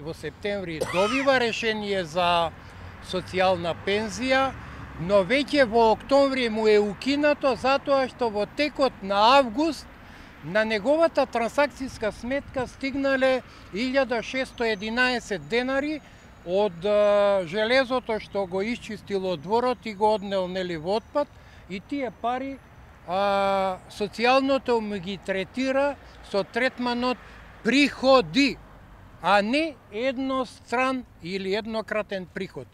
Во септември добива решение за социјална пензија, но веќе во октомври му е укинато затоа што во текот на август на неговата трансакцијска сметка стигнале 1611 денари од железото што го исчистило дворот и го однел во отпад, и тие пари социјалното му ги третира со третманот приходи, а не едностран или еднократен приход.